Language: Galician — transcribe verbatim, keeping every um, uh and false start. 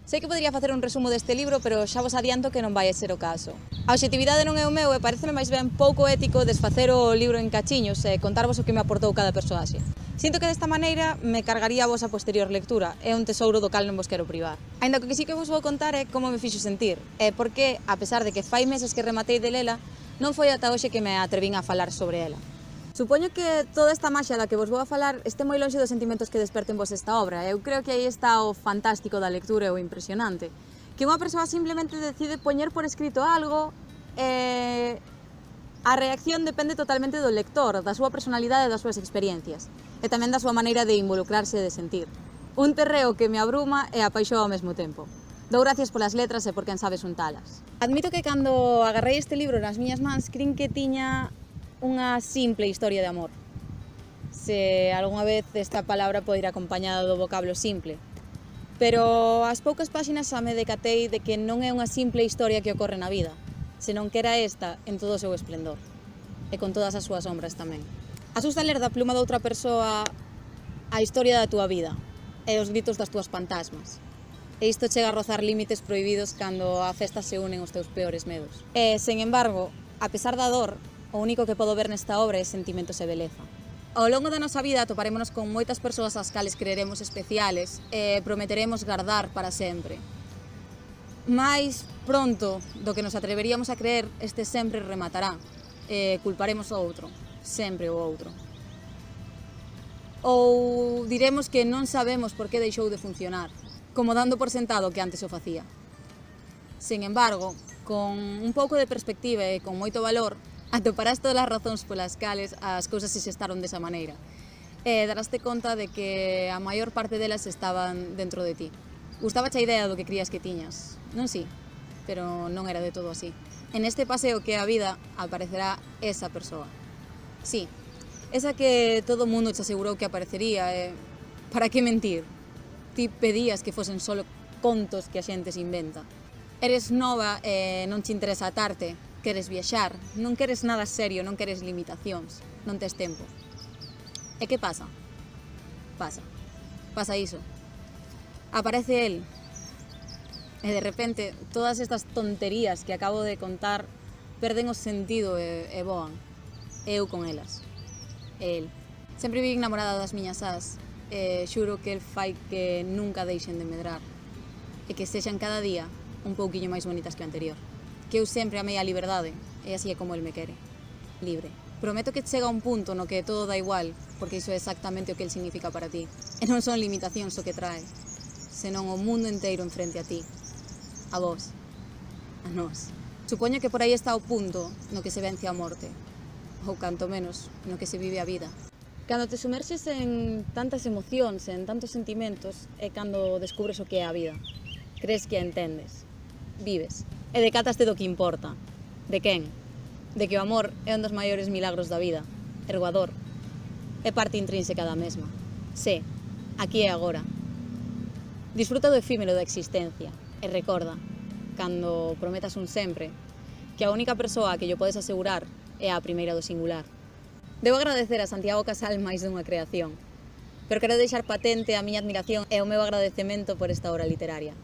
Sei que podería facer un resumo deste libro, pero xa vos adianto que non vai a ser o caso. A obxectividade non é o meu e pareceme máis ben pouco ético desfacer o libro en cachiños e contarvos o que me aportou cada persoaxe. Sinto que desta maneira me cargaría a vos a posterior lectura, é un tesouro do cal non vos quero privar. Ainda que o que sí que vos vou contar é como me fixo sentir, e porque, a pesar de que fai meses que rematei de lela, non foi ata hoxe que me atrevín a falar sobre ela. Supoño que toda esta maxia da que vos vou a falar este moi lonxe dos sentimentos que desperten vos esta obra. Eu creo que aí está o fantástico da lectura e o impresionante. Que unha persoa simplemente decide poñer por escrito algo e a reacción depende totalmente do lector, da súa personalidade e das súas experiencias. E tamén da súa maneira de involucrarse e de sentir. Un terreo que me abruma e apaixoa ao mesmo tempo. Dou gracias polas letras e por quen sabe xuntalas. Admito que cando agarrei este libro nas miñas mans crin que tiña unha simple historia de amor. Se algunha vez esta palabra pode ir acompañada do vocablo simple. Pero ás poucas páxinas xa me decatei de que non é unha simple historia que ocorre na vida, senón que era esta en todo o seu esplendor, e con todas as súas sombras tamén. Asusta ler da pluma de outra persoa a historia da túa vida e os gritos das túas fantasmas. E isto chega a rozar límites prohibidos cando a festa se unen os teus peores medos. E, sen embargo, a pesar da dor, o único que podo ver nesta obra é sentimentos e beleza. Ao longo da nosa vida toparémonos con moitas persoas ás cales creeremos especiales e prometeremos guardar para sempre. Mais pronto do que nos atreveríamos a creer, este sempre rematará e culparemos o outro, sempre o outro. Ou diremos que non sabemos por que deixou de funcionar, como dando por sentado que antes o facía. Sen embargo, con un pouco de perspectiva e con moito valor, atoparás todas as razóns polas cales as cousas se xestaron desa maneira e daraste conta de que a maior parte delas estaban dentro de ti. Gustábache a idea do que crías que tiñas, non si, pero non era de todo así. En este paseo que é a vida aparecerá esa persoa. Sí, esa que todo o mundo te asegurou que aparecería e para que mentir? Ti pedías que fosen solo contos que a xente se inventa. Eres nova e non te interesa atarte, queres viaxar, non queres nada serio, non queres limitacións, non tes tempo. E que pasa? Pasa. Pasa iso. Aparece el. E de repente, todas estas tonterías que acabo de contar perden o sentido e, e voan. Eu con elas. E el. Sempre vivi enamorada das miñas ás e xuro que el fai que nunca deixen de medrar e que sexan cada día un pouquiño máis bonitas que o anterior. Que eu sempre amei a liberdade, e así é como el me quere, libre. Prometo que chega un punto no que todo dá igual, porque iso é exactamente o que el significa para ti. E non son limitacións o que trae, senón o mundo inteiro enfrente a ti, a vos, a nós. Supoño que por aí está o punto no que se vence a morte, ou canto menos, no que se vive a vida. Cando te sumerxes en tantas emocións, en tantos sentimentos, é cando descubres o que é a vida. Crees que a entendes, vives. E decátaste do que importa. De quen? De que o amor é un dos maiores milagros da vida. Erguador. É parte intrínseca da mesma. Sé, aquí e agora. Disfruta do efímero da existencia. E recorda, cando prometas un sempre, que a única persoa a que yo podes asegurar é a primeira do singular. Debo agradecer a Santiago Casal máis dunha creación, pero quero deixar patente a miña admiración e o meu agradecemento por esta obra literaria.